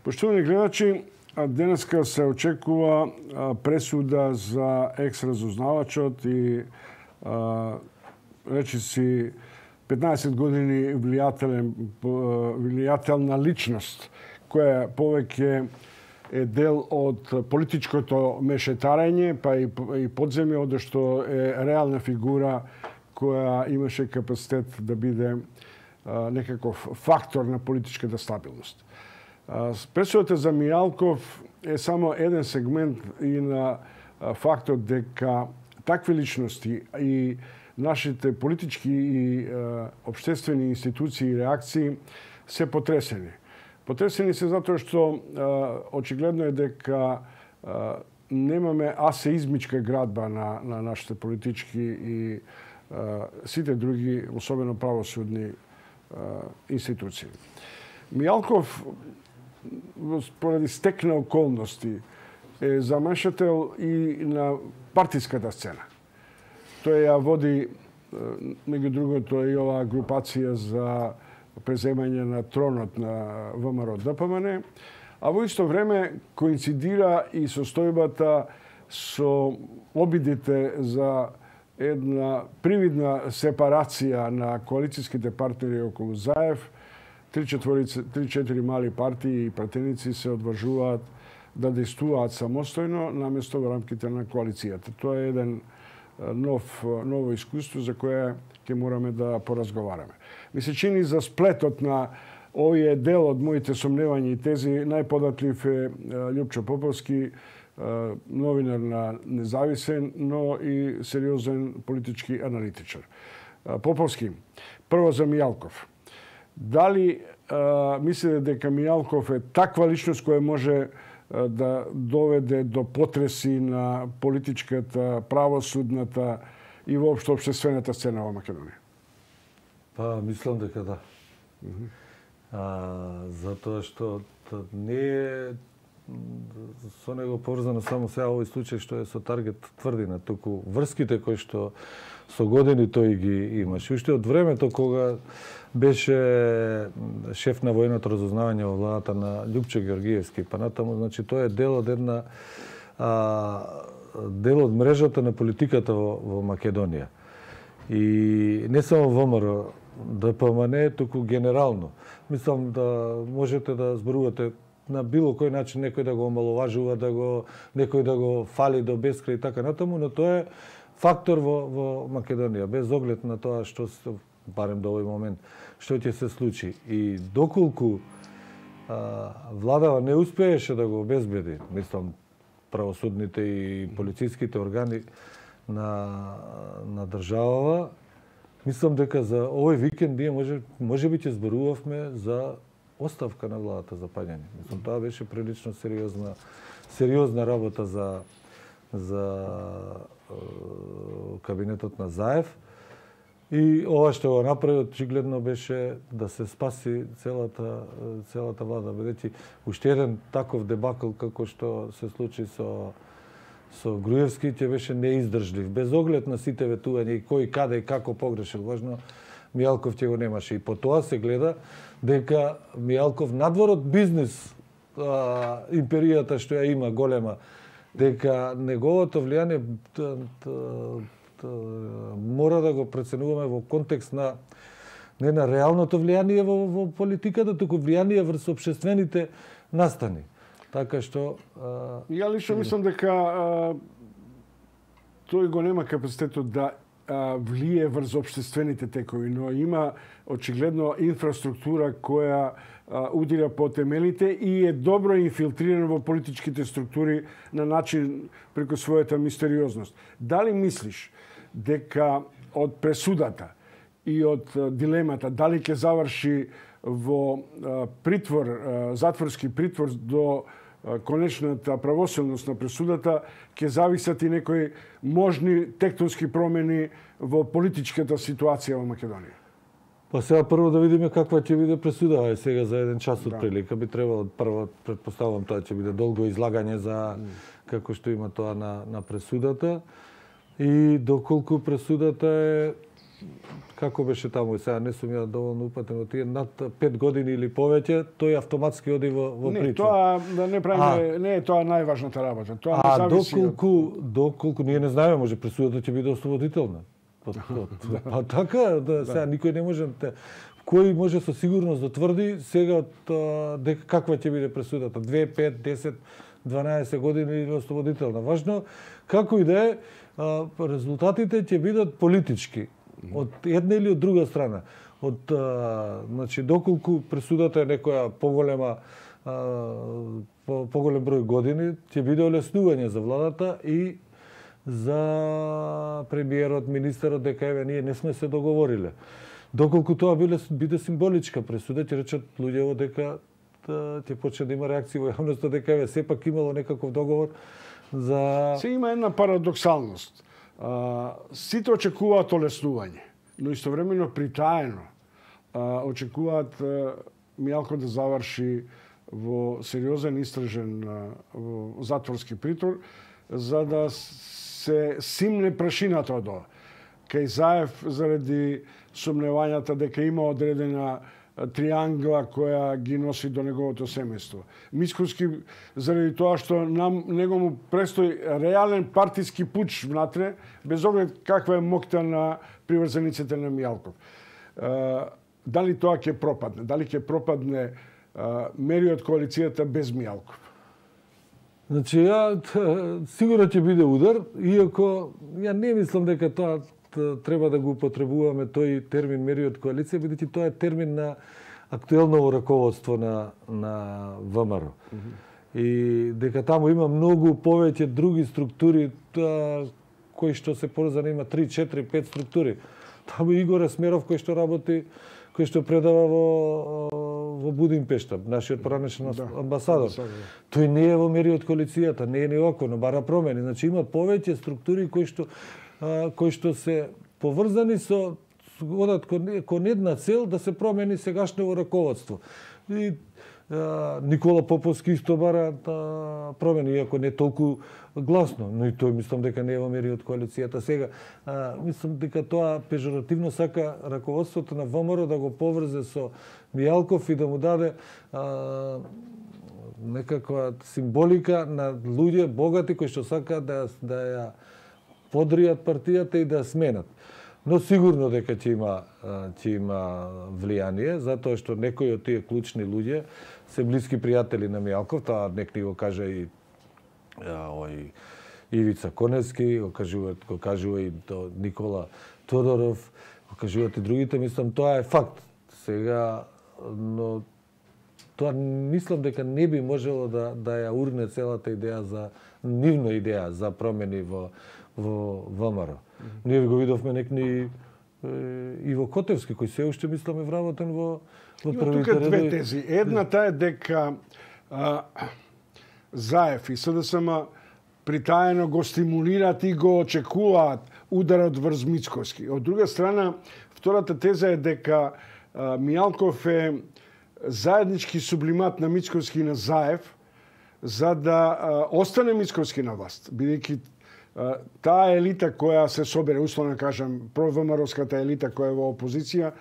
Поштовани гледачи, денеска се очекува пресуда за екс-разузнавачот и речиси 15 години влијателна личност, која повеќе е дел од политичкото мешетарење, па и подземје, одошто е реална фигура која имаше капацитет да биде некаков фактор на политичката стабилност. Пресудата за Мијалков е само еден сегмент и на фактот дека такви личности и нашите политички и општествени институции и реакции се потресени. Потресени се затоа што очигледно е дека немаме асеизмичка градба на нашите политички и сите други, особено правосудни институции. Мијалков, поради стекна околности, е замешател и на партиската сцена. Тој ја води, меѓу другото, и оваа групација за преземање на тронот на ВМРО ДПМН, а во исто време коинцидира и состојбата со обидите за една привидна сепарација на коалицијските партнери околу Заев. 3-4 мали партии и пратеници се одважуваат да действуваат самостојно наместо во рамките на коалицијата. Тоа е еден ново искуство за кое ќе мораме да поразговараме. Ми се чини за сплетот на овие дел од моите сомневања и тези најподатлив е Љупчо Поповски, новинар на Независен, но и сериозен политички аналитичар. Поповски, прво за Мијалков. Дали мислите дека Мијалков е таква личност која може да доведе до потреси на политичката, правосудната и воопшто општествената сцена во Македонија? Па, мислам дека да. Затоа што не е со него поврзано само сега овој случај што е со Таргет тврдина, туку врските кои што со години тој ги имаше. Уште од времето кога беше шеф на војното разузнавање во владата на Љупчо Георгиевски, па натаму, значи тоа е дел од една дел од мрежата на политиката во Македонија. И не само ВМРО ДПМН, туку генерално. Мислам да можете да зборувате на било кој начин некој да го омаловажува, некој да го фали до безкрај и така натаму, но тоа е фактор во Македонија, без оглед на тоа што се, барем до овој момент, што ќе се случи. И доколку владава не успееше да го обезбеди, мислам, правосудните и полициските органи на државава, мислам дека за овој викенд ние може би ќе зборувавме за оставка на владата за паѓање. Мислам, тоа беше прилично сериозна работа за кабинетот на Заев. И ова што го направи, очигледно беше да се спаси целата влада, бидејќи уште еден таков дебакл како што се случи со Груевски ќе беше неиздржлив, без оглед на сите ветувања и кој каде и како погрешил. Важно, Мијалков ќе го немаше. И по тоа се гледа дека Мијалков надвор од бизнес империјата што ја има голема, дека неговото влијание мора да го преценуваме во контекст на не на реалното влијание во политиката, туку влијание врз општествените настани. Така што ја лично мислам дека тој го нема капацитетот да влие врз општествените текови, но има очигледно инфраструктура која удира по темелите и е добро инфилтриран во политичките структури на начин преку својата мистериозност. Дали мислиш дека од пресудата и од дилемата дали ќе заврши во притвор, затворски притвор до конечната правосудност на пресудата, ќе зависат и некои можни тектонски промени во политичката ситуација во Македонија? Па сега прво да видиме каква ќе биде пресуда. Сега за еден час од прилика би требало прво, предпоставувам, тоа ќе биде долго излагање за како што има тоа на пресудата. И доколку пресудата е како беше таму, сега не сум ја доволно упатен во тие над 5 години или повеќе, тој автоматски оди во притвор. Не, тоа да не правиме, не е тоа најважната работа. Тоа не зависи доколку ние не знаеме, може пресудата ќе биде ослободителна. Па така, сега никој не може кој може со сигурност да тврди сега дека каква ќе биде пресудата, 2, 5, 10, 12 години или ослободителна. Важно како и да е, резултатите ќе бидат политички од една или од друга страна. Значи доколку пресудата е некоја поголем број години, ќе биде олеснување за владата и за премиерот, министерот, дека еве ние не сме се договориле. Доколку тоа биде символичка пресуда, ќе речат луѓето дека ќе почне да има реакции во јавноста дека еве сепак имало некаков договор за... Се има една парадоксалност. Сите очекуваат олеснување, но истовремено притаено очекуваат Мијалков да заврши во сериозен истражен во затворски притвор, за да се симне прашината од ова. Кај Заев заради сомневањата дека има одредена триангла која ги носи до неговото семејство. Мицковски заради тоа што него му престои реален партиски пуч внатре, без оглед каква е моќта на приврзениците на Мијалков. Дали тоа ќе пропадне? Дали ќе пропадне мериот коалицијата без Мијалков? Значи, сигурно ќе биде удар, иако ја не мислам дека тоа треба да го употребуваме тој термин мериот коалиција, бидејќи тоа е термин на актуелно раководство на ВМРО. И дека таму има многу повеќе други структури кои што се поврзани, има 3, 4, 5 структури. Таму Игор Есмеров кој што работи, кој што предава во Будимпешта, нашиот поранешен амбасадор. Тој не е во мериот коалицијата, не е ни око, но бара промени. Значи има повеќе структури кои што се поврзани со одат кон една цел да се промени сегашното раководство. И Никола Поповски исто бара промени, иако не толку гласно, но и тој мислам дека не е во мериот коалицијата. Сега, мислам дека тоа пежоративно сака раководството на ВМРО да го поврзе со Мијалков и да му даде некаква символика на луѓе богати кои што сакаат да ја подријат партијата и да ја сменат. Но сигурно дека ќе има влијание, затоа што некои од тие клучни луѓе се блиски пријатели на Мијалков, тоа нек ни го кажа и Ивица Коневски, го кажува и Никола Тодоров, го кажуваат и другите, мислам тоа е факт. Сега, но тоа мислам дека не би можело да ја урне целата идеја нивна идеја за промени во ВМРО. Ние го видовме некни Иво Котевски, кој се уште мисламе вработен во првите редови. Тука две тези. Едната е дека Заев и СДСМ притаено го стимулираат и го очекуваат ударот врз Мицковски. Од друга страна, втората теза е дека Мијалков е заеднички сублимат на Мицковски и на Заев за да остане Мицковски на власт, бидејќи таа елита која се собере, условно кажам, провмаровската елита која е во опозиција,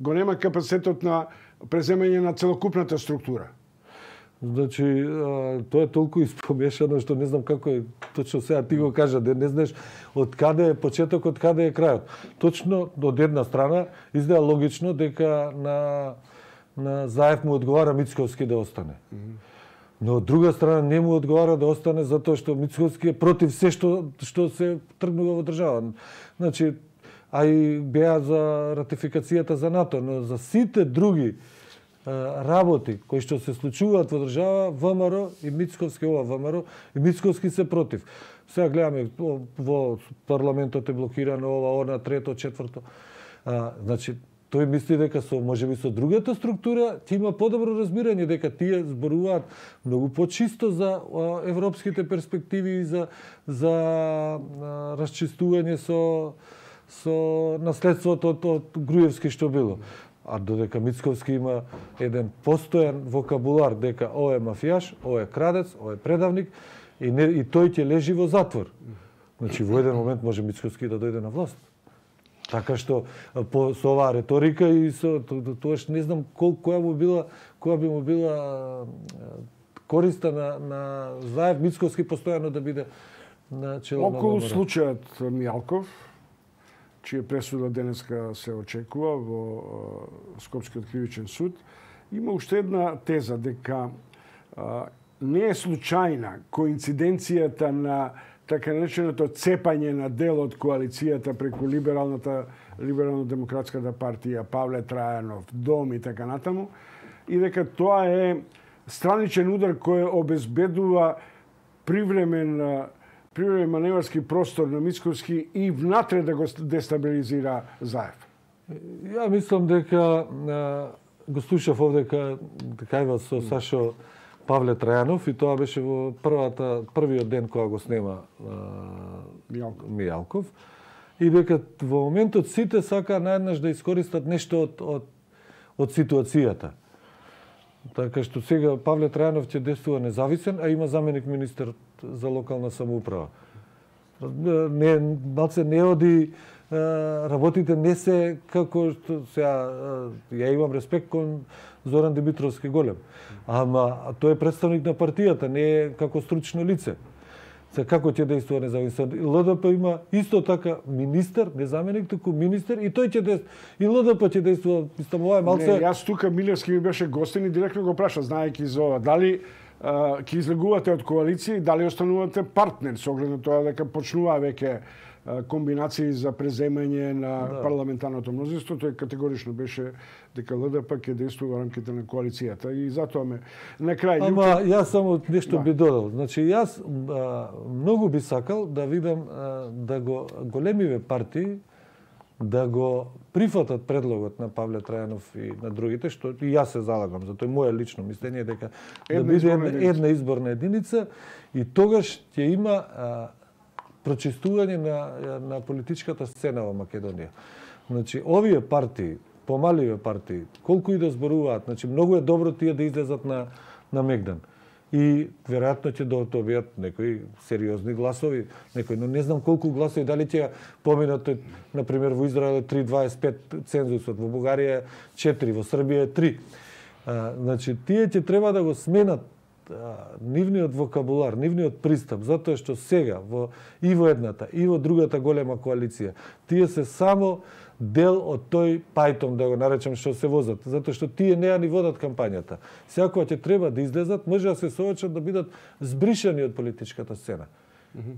го нема капацитетот на преземање на целокупната структура. Значи, тоа е толку испомешано што не знам како е точно сега ти го кажа, да не знаеш од каде е почетокот, каде е крајот. Точно од една страна изгледа логично дека на Заев му одговара Мицковски да остане. Но од друга страна не му одговара да остане затоа што Мицковски е против се што се тргнува во држава. Значи, а и беа за ратификацијата за НАТО, но за сите други работи кои што се случуваат во држава, ВМРО и Мицковски, ВМРО и Мицковски се против. Сега гледаме во парламентот е блокирано она, трето, четврто. Значи, тој мисли дека можеби со другата структура ќе има подобро разбирање дека тие зборуваат многу почисто за европските перспективи и за расчистување со наследството од Груевски што било. А додека Мицковски има еден постојан вокабулар дека ој е мафијаш, ој е крадец, ој е предавник и тој ќе лежи во затвор. Значи во еден момент може Мицковски да дојде на власт. Така што со оваа реторика и со тоаш не знам која би му била користа на Заев Мицковски постојано да биде на чело на Околу случајот Мијалков, чија пресуда денеска се очекува во Скопскиот кривичен суд, има уште една теза дека не е случајна коинциденцијата на така нареченото цепање на дел од коалицијата преку либерално-демократската партија, Павле Трајанов, Дом и така натаму, и дека тоа е страничен удар кој обезбедува привремен маневарски простор на Мицковски и внатре да го дестабилизира Заев. Ја мислам дека го слушав овдека кај со Сашо Павле Трајанов и тоа беше во првиот ден кога го снема Мијалков. И дека во моментот сите сака наеднаш да искористат нешто од ситуацијата. Така што сега Павле Трајанов ќе действува независен, а има заменик министер за локална самоуправа. Не оди работите не се како што сега ја имам респект кон Зоран Димитровски голем. Ама тој е представник на партијата, не е како стручно лице. Сега како ќе действува независен? ЛДП има исто така министер, не заменик, туку министер и тој ќе действува. И ЛДП ќе действува, мислам, ова е малце. Не, јас тука Милевски ми беше гостин и директно го праша, знаејќи за ова, дали ќе излегувате од коалиција и дали останувате партнер со оглед на тоа дека почнува веќе комбинации за преземање на парламентарното мнозинство, тој категорично беше дека ЛДП ќе действува во рамките на коалицијата и затоа на крај. Ама јас само нешто би додал. Значи јас многу би сакал да видам да го големиве партии да го прифатат предлогот на Павле Трајанов и на другите, што и јас се залагам за тоа, мое лично мислење дека да биде една изборна единица и тогаш ќе има прочистување на политичката сцена во Македонија. Значи, овие партии, помаливе партии, колку и да зборуваат, значи, многу е добро тие да излезат на Мегдан. И веројатно ќе добијат некои сериозни гласови, но не знам колку гласови, дали ќе поминат, например, во Израел 3,25 цензусот, во Бугарија 4, во Србија 3. Значи, тие ќе треба да го сменат нивниот вокабулар, нивниот пристап, затоа што сега и во едната и во другата голема коалиција, тие се само дел од тој пајтон, да го наречам, што се возат, затоа што тие неа ни водат кампањата. Сега кога ќе треба да излезат, може да се соочат да бидат збришани од политичката сцена.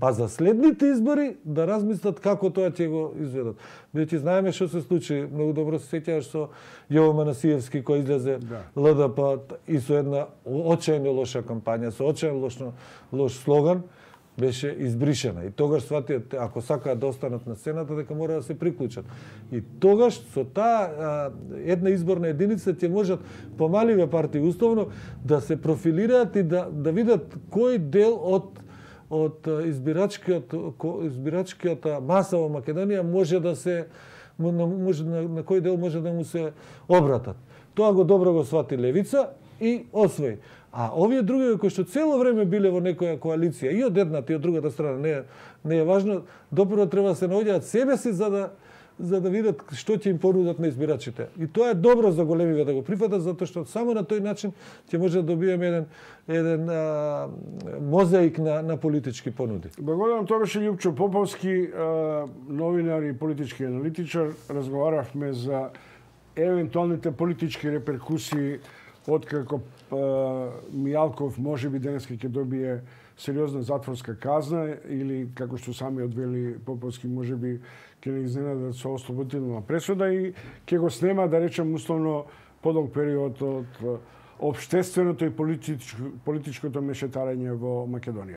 Па за следните избори да размислат како тоа ќе го изведат. Бидејќи знаеме што се случи, многу добро се сеќаваш со Јово Манасиевски кој излезе ЛДП и со една очајно лоша кампања, со очајно лош слоган, беше избришена. И тогаш сватиот, ако сакаат да останат на сцената, дека мора да се приклучат. И тогаш со таа една изборна единица ќе можат помаливе партии условно да се профилираат и да видат кој дел од избирачката маса во Македонија може да се на кој дел може да му се обратат. Тоа го добро го свати левица и освои. А овие други кои што цело време биле во некоја коалиција и од едната и од другата страна, не е важно, допрво треба да се наоѓаат себе си за да видат што ќе им понудат на избирачите. И тоа е добро за големиве да го прифатат, затоа што само на тој начин ќе може да добиеме еден мозаик на политички понуди. Благодарам, тоа беше Љупчо Поповски, новинар и политички аналитичар. Разговаравме за евентуалните политички реперкусии откако Мијалков можеби денеска ќе добие сериозна затворска казна или, како што сами одвели Поповски, можеби ќе не изненадат со ослободителна пресуда и ќе го снема, да речем, условно подолг период од општественото и политичкото мешетарење во Македонија.